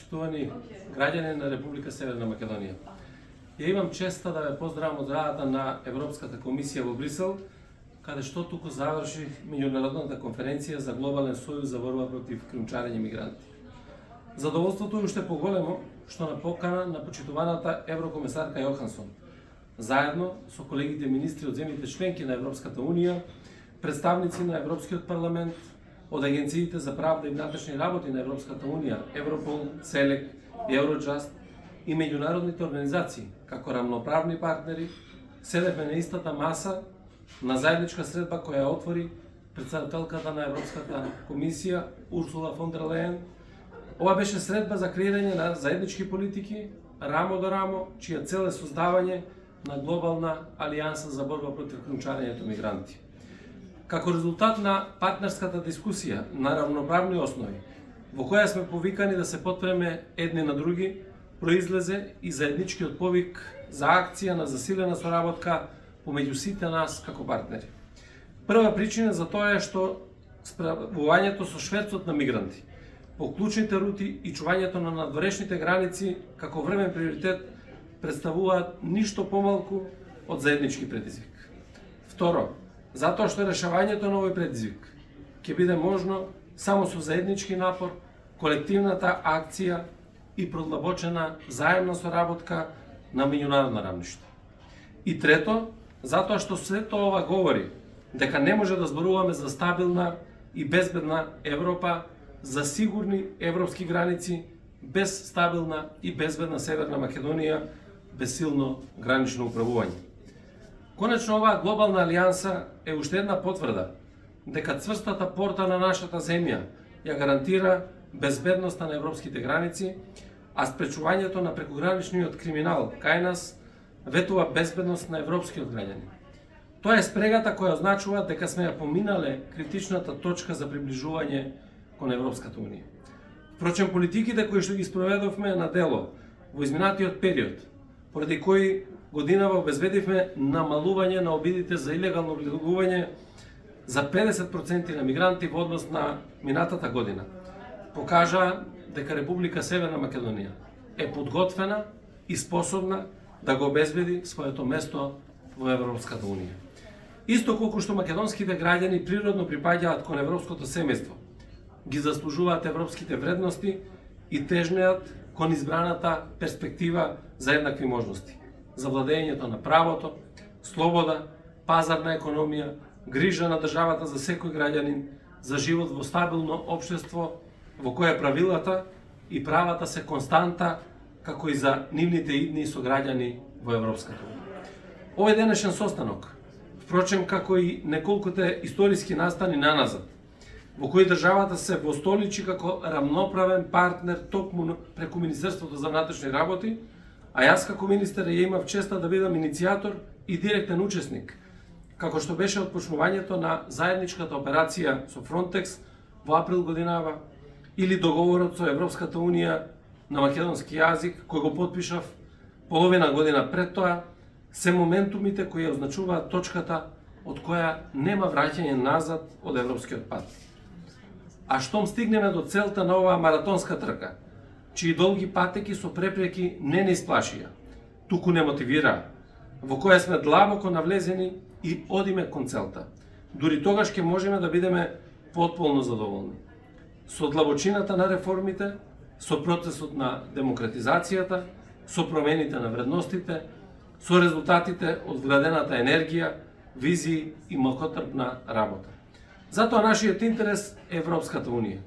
почитувани граѓани на Република Северна Македонија. Ја имам честа да ве поздравам од радата на Европската комисија во Брисел, каде што туку заврши меѓународната конференција за глобален сојуз за борба против кримчарење мигранти. Задоволството е уште поголемо што на покана на почитуваната еврокомесарка Јохансон, заедно со колегите министри од земјите членки на Европската Унија, представници на Европскиот парламент, од агенциите за правда и внатрешни работи на Европската Унија, Европол, СЕЛЕК и Евроджаст и меѓународните организации, како рамноправни партнери, седевме на истата маса на заедничка средба која отвори претседателката на Европската комисија Урсула фон дер Лејен. Ова беше средба за креирање на заеднички политики, рамо до рамо, чија цел е создавање на глобална алијанса за борба против кримчарењето мигранти. Како резултат на партнерската дискусија на равноправни основи, во која сме повикани да се потпреме едни на други, произлезе и заедничкиот повик за акција на засилена соработка помеѓу сите нас како партнери. Прва причина за тоа е што справувањето со шверцот на мигранти по клучните рути и чувањето на надворешните граници како времен приоритет представуваат ништо помалку од заеднички предизвик. Второ, затоа што решавањето на овој предизвик ќе биде можно само со заеднички напор, колективната акција и продлабочена заемна соработка на меѓународно равниште. И трето, затоа што сето ова говори дека не може да зборуваме за стабилна и безбедна Европа, за сигурни европски граници, без стабилна и безбедна Северна Македонија, без силно гранично управување. Конечно, оваа глобална алијанса е уште една потврда дека цврстата порта на нашата земја ја гарантира безбедноста на европските граници, а спречувањето на прекограничниот криминал кај нас ветува безбедност на европскиот граѓани. Тоа е спрегата која означува дека сме ја поминале критичната точка за приближување кон Европската Унија. Впрочем, политиките кои што ги спроведовме на дело во изминатиот период, поради кои годинава обезбедивме намалување на обидите за илегално влегување за 50% на мигранти во однос на минатата година, покажа дека Република Северна Македонија е подготвена и способна да го обезбеди своето место во Европската Унија. Исто колку што македонските граѓани природно припаѓаат кон европското семејство, ги заслужуваат европските вредности и тежнеат кон избраната перспектива за еднакви можности, за владењето на правото, слобода, пазарна економија, грижа на државата за секој граѓанин, за живот во стабилно општество во кое правилата и правата се константа, како и за нивните идни сограѓани во Европската Унија. Овој денешен состанок, впрочем како и неколкуте историски настани наназад, во кои државата се востоличи како рамноправен партнер токму преку Министерството за внатрешни работи, а јас како министер ја имав честа да бидам иницијатор и директен учесник, како што беше отпочнувањето на заедничката операција со Фронтекс во април годинава, или договорот со Европската Унија на македонски јазик, кој го потпишав половина година пред тоа, се моментумите кои означуваат точката од која нема враќање назад од европскиот пат. А штом стигнеме до целта на оваа маратонска трка, чии долги патеки со препреки не исплашија, туку не мотивираа, во која сме длабоко навлезени и одиме кон целта, дури тогаш ќе можеме да бидеме потполно задоволни. Со длабочината на реформите, со процесот на демократизацијата, со промените на вредностите, со резултатите од вградената енергија, визии и малкотрпна работа. Затоа нашиот интерес е Европската Унија.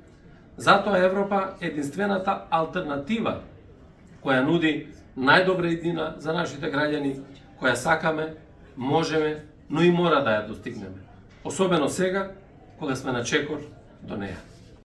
Затоа Европа е единствената алтернатива која нуди најдобра иднина за нашите граѓани, која сакаме, можеме, но и мора да ја достигнеме. Особено сега, кога сме на чекор до неја.